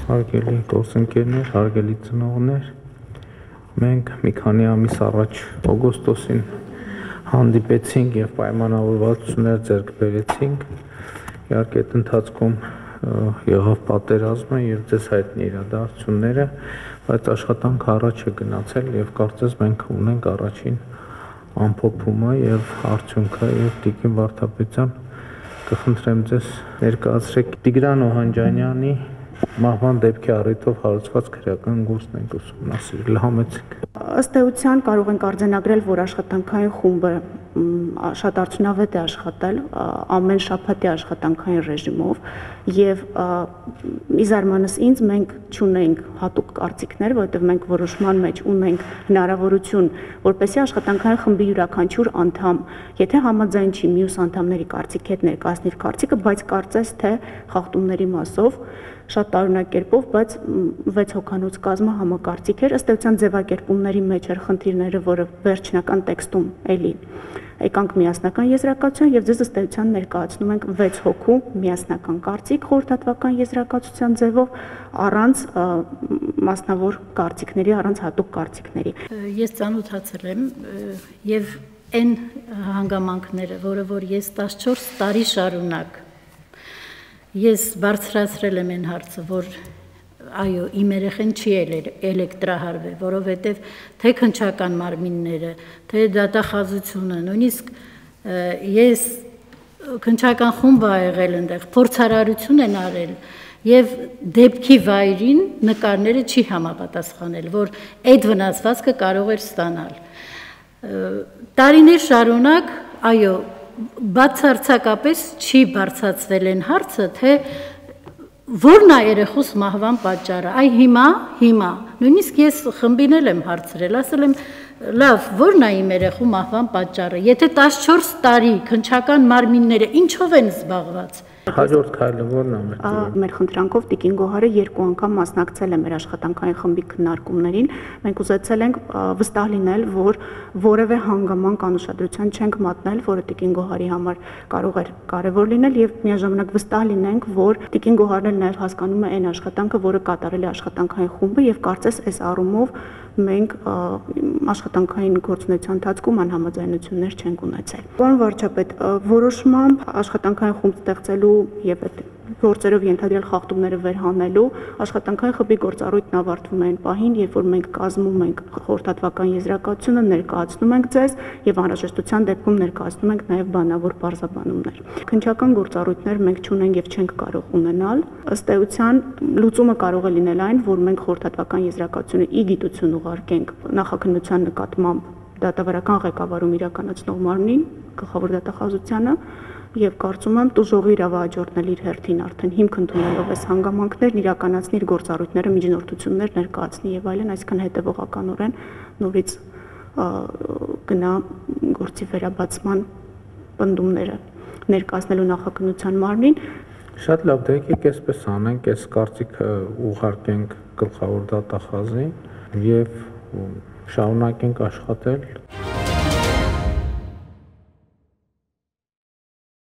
Հարգելի գործընկերներ, հարգելի ծնողներ, մենք մի քանի ամիս առաջ օգոստոսին հանդիպեցինք եւ պայմանավորվածություններ ձեռք բերեցինք։ Իհարկե այդ ընթացքում եղավ պատերազմը եւ ձեզ հայտնի իրադարձությունները, բայց աշխատանքը առաջ է գնացել եւ կարծես մենք ունենք առաջին ամփոփումը եւ արդյունքը եւ Տիկին Վարդապետյան կխնդրեմ ձեզ ներկայացրեք Տիգրան Օհանջանյանի մահվան դեպքի առիթով հարուցված քրեական գործն ենք ուսումնասիրել, համեցեք։ Ըստ էության կարող ենք արձանագրել, որ աշխատանքային խումբը շատ արդյունավետ է աշխատել ամեն շաբաթի աշխատանքային ռեժիմով եւ ի զարմանս ինձ մենք չունենք հատուկ կարծիքներ, որովհետեւ մենք որոշման մեջ ունենք հնարավորություն, որպեսզի աշխատանքային խմբի յուրաքանչյուր անդամ, եթե համաձայն չի մյուս անդամների կարծիքի հետ ներկայացնի իր կարծիքը, բայց կարծես թե խախտումների մասով շատ տարօրինակ կերպով, բայց 6 հոգանոց կազմը համակարծիք էր, ըստ էության ձևակերպումների մեջ էր խնդիրները, որը վերջնական տեքստում էլի եկանք միասնական եզրակացության եւ ձեզ ըստ էության ներկայացնում ենք 6 հոգու միասնական կարծիք խորհրդատվական եզրակացության ձևով առանց մասնավոր կարծիքների, առանց հատուկ կարծիքների։ Ես ծանոթացել եմ եւ այն հանգամանքները, որ ես 14 տարի շարունակ ես բարձրացրել եմ այն հարցը, որ այո, իմ երեխեն չի էլեկտրահարվել, որովհետև թե քննչական մարմինները, թե դատախազությունը, նույնիսկ ես քննչական խումբ ա եղել այնտեղ, փորձարարություն են արել եւ դեպքի վայրին նկարները չի համապատասխանել, որ այդ վնասվածքը կարող էր ստանալ։ Տարիներ շարունակ, այո, բացարձակապես չի բարձրացվել այն հարցը, թե որն է երեխուս մահվան պատճառը, այ հիմա, նույնիսկ ես խմբին եմ հարցրել, ասել եմ, լավ, որն է իմ երեխու մահվան պատճառը, եթե 14 տարի քննչական մարմինները ինչով են զբաղված։ Հաջորդ քայլը ո՞րն է մեր խնդրանքով Տիկին Գոհարը 2 անգամ մասնակցել է մեր աշխատանքային խմբի քննարկումներին։ Մենք ուզեցել ենք վստահ լինել, որ որևէ հանգամանք անուշադրության չենք մատնել, որը Տիկին Գոհարի համար կարող էր կարևոր լինել եւ միաժամանակ վստահ լինենք, որ Տիկին Գոհարն էլ նաեւ հասկանում է այն աշխատանքը, որը կատարել է աշխատանքային խումբը եւ կարծես այս առումով մենք աշխատանքային գործունեության ընթացքում անհամաձայնություններ չենք ունեցել։ Պարոն վարչապետ, որոշմամբ աշխատանքային խումբ ստեղծելու եւ այդ գործերով ենթադրյալ խախտումները վերհանելու աշխատանքային խմբի գործառույթն ավարտվում է այն պահին, երբ որ մենք կազմում ենք խորհրդատվական եզրակացությունը, ներկայացնում ենք ձեզ եւ անհրաժեշտության դեպքում ներկայացնում ենք նաեւ բանավոր բարձաբանումներ։ Քննչական գործառույթներ մենք չունենք եւ չենք կարող ունենալ։ Ըստ էության լուծումը կարող է լինել այն, որ մենք խորհրդատվական եզրակացությունը ի գիտություն ուղարկենք նախաքննության նկատմամբ դատավարական ղեկավարում իրականացնող մարմնին, գլխավոր դատախազությանը, եւ կարծում եմ տուժողի իրավահաջորդն էլ իր հերթին արդեն հիմք ընդունելով այս հանգամանքներն իրականացնի իր գործառույթները, միջնորդություններ ներկայացնի եւ այլն, այսքան հետեւողականորեն նորից գնա գործի վերաբացման պնդումները ներկայացնելու նախաքննության մարմնին։ Շատ լավ, դե եկեք այսպես անենք, այս կարծիքը ուղարկենք գլխավոր դատախազին եւ շարունակենք աշխատել։